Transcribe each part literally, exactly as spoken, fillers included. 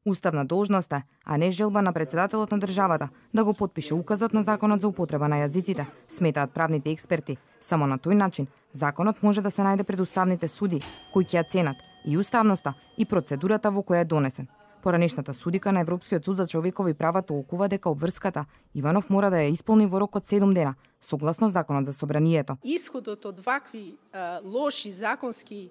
Уставна должност е, а не желба на председателот на државата да го потпише указот на законот за употреба на јазиците, сметаат правните експерти. Само на тој начин законот може да се најде пред уставните суди, кои ќе ја ценат и уставноста и процедурата во која е донесен. Поранешната судика на Европскиот суд за човекови права толкува дека обврската Иванов мора да ја исполни во рок од седум дена, согласно законот за собранието. Исходот од вакви а, лоши законски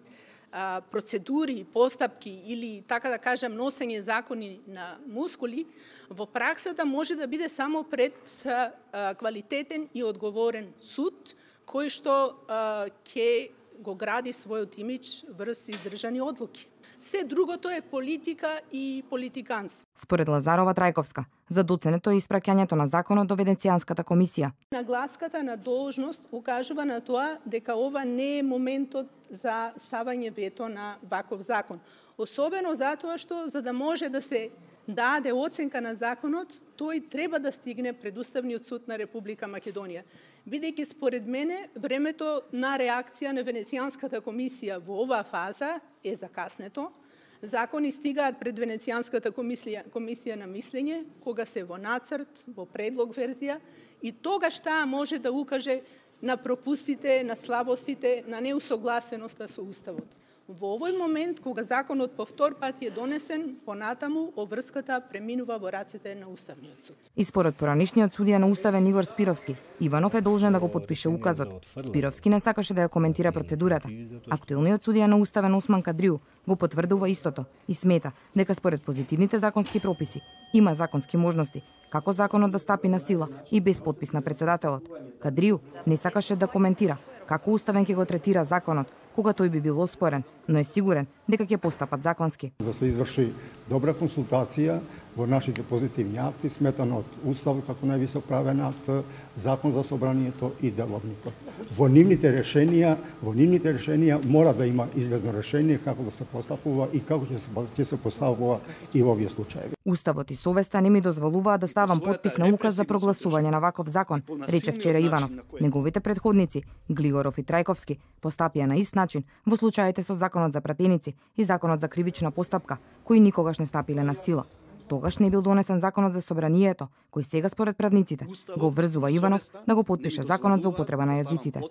а, процедури, постапки или, така да кажам, носење закони на мускули, во праксата може да биде само пред а, а, квалитетен и одговорен суд, кој што а, ќе го гради својот имидж врз издржани одлуки. Се другото е политика и политиканство. Според Лазарова Трајковска, за доценето е испраќањето на законот до Венецијанската комисија. Нагласката на должност укажува на тоа дека ова не е моментот за ставање вето на ваков закон. Особено затоа што за да може да се даде оценка на законот, тој треба да стигне пред Уставниот суд на Република Македонија. Бидејќи според мене времето на реакција на Венецијанската комисија во оваа фаза е закаснето. Закони стигаат пред Венецијанската комисија, комисија на мислење, кога се во нацрт, во предлог верзија, и тогаш таа може да укаже на пропустите, на слабостите, на неусогласеноста со Уставот. Во овој момент, кога законот по втор пат е донесен, понатаму обврската преминува во рацете на Уставниот суд. И според поранишниот судија на Уставен Игор Спировски, Иванов е должен да го потпише указот. Спировски не сакаше да ја коментира процедурата. Актуелниот судија на Уставен Осман Кадриу го потврдува истото и смета дека според позитивните законски прописи има законски можности како законот да стапи на сила и без подпис на председателот. Кадриу не сакаше да коментира како Уставен ќе го третира законот кога тој би бил оспорен, но е сигурен дека ќе постапат законски. Да се изврши добра консултација во нашите позитивни акти, сметано од Уставот како највисок правен акт, Закон за собранието и Деловникот. Во нивните решенија, во нивните решенија мора да има излезно решение како да се постапува и како ќе се, ќе се поставува и во овие случаи. Уставот и совеста не ми дозволуваат да ставам подпис на указ за прогласување на ваков закон, рече вчера Иванов. Неговите предходници, Глигоров и Трајковски, постапија на ист начин во случаите со законот за пратеници и законот за кривична постапка, кои никогаш не стапиле на сила. Тогаш не бил донесен законот за собранието, кој сега според правниците го обврзува Иванов да го потпише законот за употреба на јазиците.